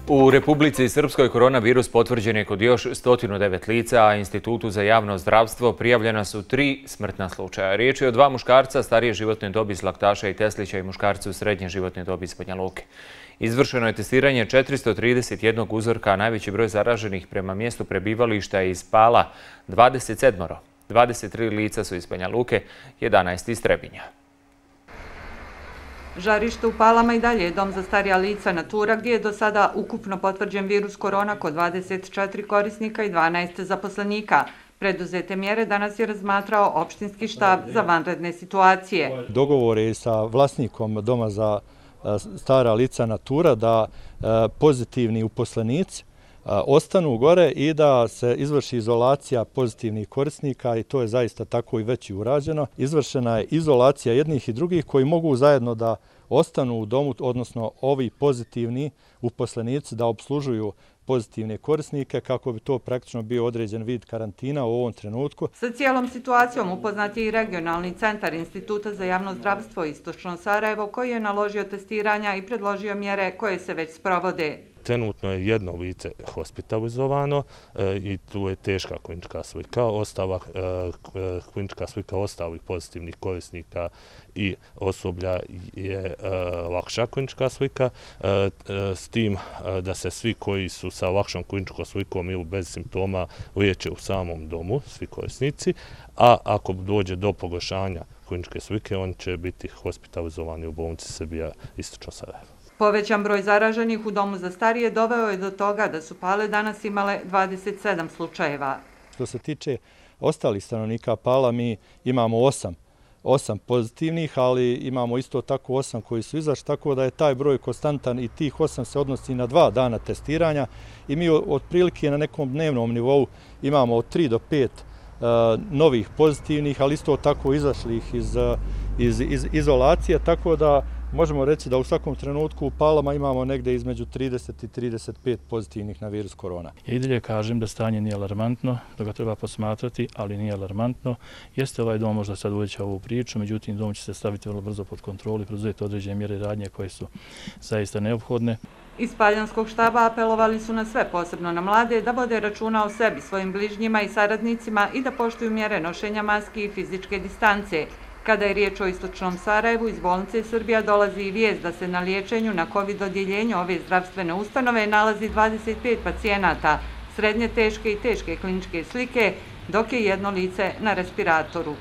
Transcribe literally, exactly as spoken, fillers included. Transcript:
U Republici Srpskoj koronavirus potvrđen je kod još sto devet lica, a Institutu za javno zdravstvo prijavljena su tri smrtna slučaja. Riječ je o dva muškarca starije životne dobi iz Laktaša i Teslića i muškarcu srednje životne dobi iz Banja Luke. Izvršeno je testiranje četiristo trideset jedan uzorka, a najveći broj zaraženih prema mjestu prebivališta je iz Pala dvadeset sedam. dvadeset tri lica su iz Banja Luke, jedanaest iz Trebinja. Žarište u Palama i dalje je dom za starija lica Natura, gdje je do sada ukupno potvrđen virus korona kod dvadeset četiri korisnika i dvanaest zaposlenika. Preduzete mjere danas je razmatrao opštinski štab za vanredne situacije. Dogovor je sa vlasnikom doma za stara lica Natura da pozitivni uposlenici ostanu gore i da se izvrši izolacija pozitivnih korisnika, i to je zaista tako i već i urađeno. Izvršena je izolacija jednih i drugih koji mogu zajedno da ostanu u domu, odnosno ovi pozitivni uposlenici da obslužuju pozitivne korisnike kako bi to praktično bio određen vid karantina u ovom trenutku. Sa cijelom situacijom upoznat je i regionalni centar Instituta za javno zdravstvo Istočno Sarajevo, koji je naložio testiranja i predložio mjere koje se već sprovode. Trenutno je jedno lice hospitalizovano e, i tu je teška klinička slika. Ostala e, klinička slika ostalih pozitivnih korisnika i osoblja je e, lakša klinička slika, e, e, s tim e, da se svi koji su sa lakšom kliničkom slikom ili bez simptoma liječe u samom domu, svi korisnici, a ako dođe do pogoršanja kliničke slike, oni će biti hospitalizovani u bolnici Srbija Istočno Sarajevo. Povećan broj zaraženih u domu za starije doveo je do toga da su Pale danas imale dvadeset sedam slučajeva. Što se tiče ostalih stanovnika Pala, mi imamo osam, osam pozitivnih, ali imamo isto tako osam koji su izašli, tako da je taj broj konstantan i tih osam se odnosi na dva dana testiranja i mi otprilike na nekom dnevnom nivou imamo od tri do pet uh, novih pozitivnih, ali isto tako izašlih iz, iz, iz izolacije, tako da možemo reći da u svakom trenutku u Palama imamo negdje između trideset i trideset pet pozitivnih na virus korona. Ja i dalje kažem da stanje nije alarmantno, da ga treba posmatrati, ali nije alarmantno. Jeste ovaj dom možda sad uveća ovu priču, međutim dom će se staviti vrlo brzo pod kontrolu i preduzeti određene mjere radnje koje su zaista neophodne. Iz Paljanskog štaba apelovali su na sve, posebno na mlade, da vode računa o sebi, svojim bližnjima i saradnicima i da poštuju mjere nošenja maski i fizičke distance. Kada je riječ o Istočnom Sarajevu, iz bolnice Srbija dolazi i vijest da se na liječenju na COVID odjeljenju ove zdravstvene ustanove nalazi dvadeset pet pacijenata, srednje teške i teške kliničke slike, dok je jedno lice na respiratoru.